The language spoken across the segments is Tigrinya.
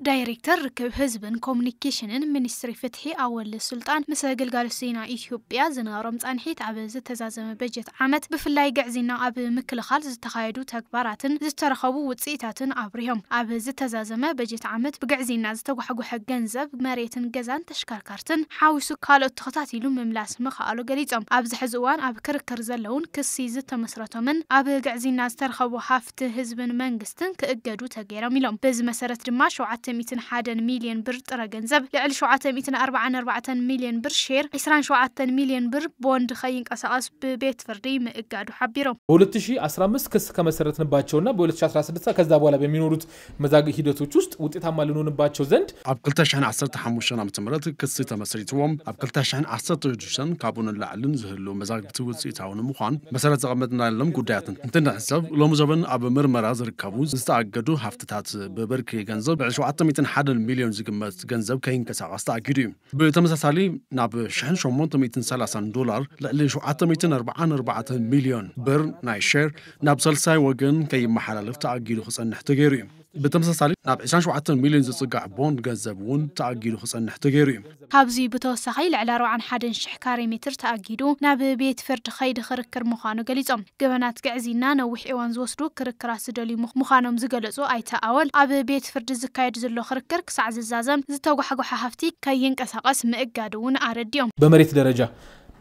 ዳይሬክተር ርክብ ህዝብን ኮሙኒኬሽንን ሚኒስትሪ ፍትሒ ኣወል ሱልጣን ምስ ግልጋሎት ዜና ኢትዮጵያ ዝነበሮም ጻንሒት፣ ኣብ ዝተዛዘመ በጀት ዓመት ብፍላይ ግዕዝና ኣብ ምክልኻል ዝተኻየዱ ተግባራትን ዝተረኸቡ ውጽኢታትን ኣብሪሆም። ኣብ ዝተዛዘመ በጀት ዓመት ብግዕዝና ዝተጓሕጎሐ ገንዘብ፣ መሬትን ገዛን ተሽከርካርትን ሓዊሱ ካልኦት ተኸታቲሉ ምምላስ ምኽኣሉ ገሊጾም። ኣብዚ ሕዚ እዋን ኣብ ክርክር ዘለውን ክሲ ዝተመስረቶምን ኣብ ግዕዝና ዝተረኸቡ ሃፍቲ ህዝብን መንግስትን ክእገዱ ተገይሮም ኢሎም። በዚ መሰረት ድማ ሸውዓተ ሚእትን ሓደን ሚልዮን ብር ጥረ ገንዘብ፣ ልዕሊ ሸውዓተ ሚእትን ኣርባዓን ኣርባዕተን ሚልዮን ብር ሼር፣ ዕስራን ሸውዓተን ሚልዮን ብር ቦንድ ከይንቀሳቐስ ብቤት ፍርዲ ምእጋዱ ሓቢሮም። በ2015 ክስ ከመሰረትንባቸውና በ2016 ከዛ በኋላ በሚኖሩት መዛግብ ሂደቶች ውስጥ ውጤታማ ልንሆንባቸው ዘንድ ኣብ ክልተ ሽሕን ዓሰርተ ሓሙሽተን ዓመተ ምህረት ክሲ ተመስሪትዎም ኣብ ክልተ ሽሕን ዓሰርተ ሽዱሽተን ካብኡ ንላዕልን ዝህሉ መዛግብቲ ውፅኢታዊ ንምዃን መሰረት ዘቐመጥናሎም ጉዳያት እንትንሕሰብ፣ ሎሚ ዘበን ኣብ ምርመራ ዝርከቡ ዝተኣገዱ ሃፍትታት ብብርኪ ገንዘብ ልዕሊ ሸውዓተ ሚእትን ሓደን ሚልዮን ዝግመት ገንዘብ ከይንቀሳቐስ ተኣጊዱ እዩ። ብተመሳሳሊ ናብ ሽሕን ሸሞንተ ሚእትን ሰላሳን ዶላር ልዕሊ ሸውዓተ ሚእትን ኣርባዓን ኣርባዕተን ሚልዮን ብር ናይ ሼር ናብ ሳልሳይ ወገን ከይመሓላለፍ ተኣጊዱ ክጸንሕ ተገይሩ እዩ። ብተመሳሳሊ ናብ ዕስራን ሸውዓተን ሚልዮን ዝጽጋዕ ቦንድ ገንዘብ እውን ተኣጊዱ ክጸንሕ ተገይሩ እዩ። ካብዚ ብተወሳኺ ልዕሊ ኣርባዓን ሓደን ሽሕ ካሬ ሜትር ተኣጊዱ ናብ ቤት ፍርዲ ከይዲ ክርክር ምዃኑ ገሊጾም። ገበናት ግዕዝይና ነዊሕ እዋን ዝወስዱ ክርክራት ዝደልዩ ምኽ- ምዃኖም ዝገለጹ ኣይተ ኣወል፣ ኣብ ቤት ፍርዲ ዝካየድ ዘሎ ክርክር ክሳዕ ዝዛዘም ዝተጓሕጎሐ ሃፍቲ ከይንቀሳቐስ ምእጋዱ እውን ኣረዲኦም። በመሬት ደረጃ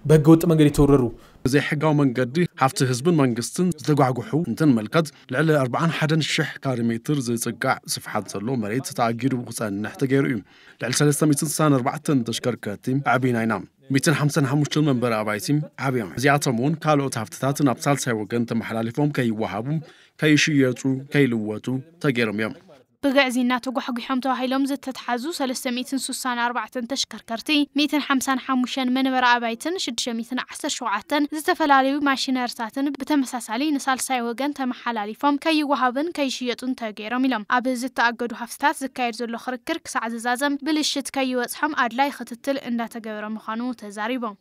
በህገ ወጥ መንገድ የተወረሩ ብዘይሕጋዊ መንገዲ ሃፍቲ ህዝብን መንግስትን ዝተጓሕጉሑ እንትንመልከት፣ ልዕሊ ኣርባዓን ሓደን ሽሕ ካሬ ሜትር ዝጽጋዕ ስፍሓት ዘሎ መሬት ተኣጊዱ ክጸንሕ ተገይሩ እዩ። ልዕሊ ሰለስተ ሚእትን ስሳን ኣርባዕተን ተሽከርከርቲ ኣዕቢና ኢና። ሚእትን ሓምሳን ሓሙሽተን መንበሪ ኣባይቲ ዓብዮም። እዚኣቶም እውን ካልኦት ሃፍትታት ናብ ሳልሳይ ወገን ተመሓላሊፎም ከይወሃቡ፣ ከይሽየጡ፣ ከይልወጡ ተገይሮም እዮም። ብግዕዝይና ተጓሕጒሖም ተባሂሎም ዝተትሓዙ ሰለስተ ሚእትን ስሳን ኣርባዕተን ተሽከርከርቲ፣ ሚእትን ሓምሳን ሓሙሽተን መንበሪ ኣባይትን ሽዱሽተ ሚእትን ዓሰርተ ሸውዓተን ዝተፈላለዩ ማሽነርታትን ብተመሳሳሊ ንሳልሳይ ወገን ተመሓላሊፎም ከይወሃቡን ከይሽየጡን ተገይሮም ኢሎም። ኣብ ዝተኣገዱ ሃፍትታት ዝካየድ ዘሎ ክርክር ክሳዕ ዝዛዘም ብልሽት ከይበጽሖም ኣድላይ ክትትል እንዳተገበረ ምዃኑ ተዛሪቦም።